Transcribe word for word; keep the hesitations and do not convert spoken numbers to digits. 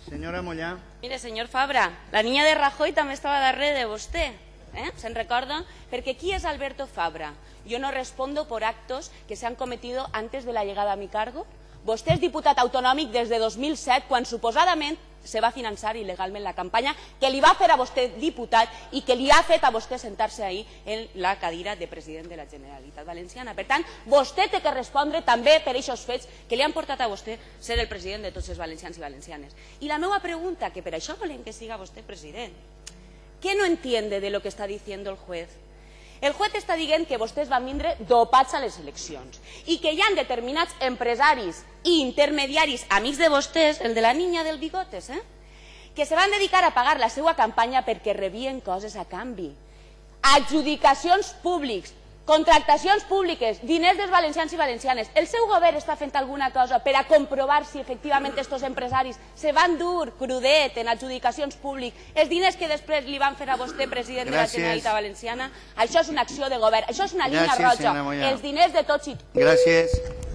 Senyora Mollà. Mire, senyor Fabra, la niña de Rajoy també estava darrere de vostè. ¿Eh? ¿Se'n recorda? Perquè qui és Alberto Fabra? Yo no respondo por actos que se han cometido antes de la llegada a mi cargo. Vostè és diputat autonòmic des de dos mil set, quan suposadament se va finançar il·legalment la campanya que li va fer a vostè diputat i que li ha fet a vostè sentar-se ahir en la cadira de president de la Generalitat Valenciana. Per tant, vostè té que respondre també per aquests fets que li han portat a vostè ser el president de tots els valencians i valencianes. I la meva pregunta, que per això volem que siga vostè president, ¿qué no entiende de lo que está diciendo el juez? El juez està dient que vostès van vindre dopats a les eleccions i que hi ha determinats empresaris i intermediaris, amics de vostès, el de la niña del bigotes, eh? que se van dedicar a pagar la seva campanya perquè rebien coses a canvi. Adjudicacions públics, contractacions públiques, diners dels valencians i valencianes. El seu govern està fent alguna cosa per a comprovar si efectivament aquests empresaris se van dur crudet en adjudicacions públiques, els diners que després li van fer a vostè president de la Generalitat Valenciana? Això és una acció de govern, això és una línia roja, els diners de tots i tots. Gràcies.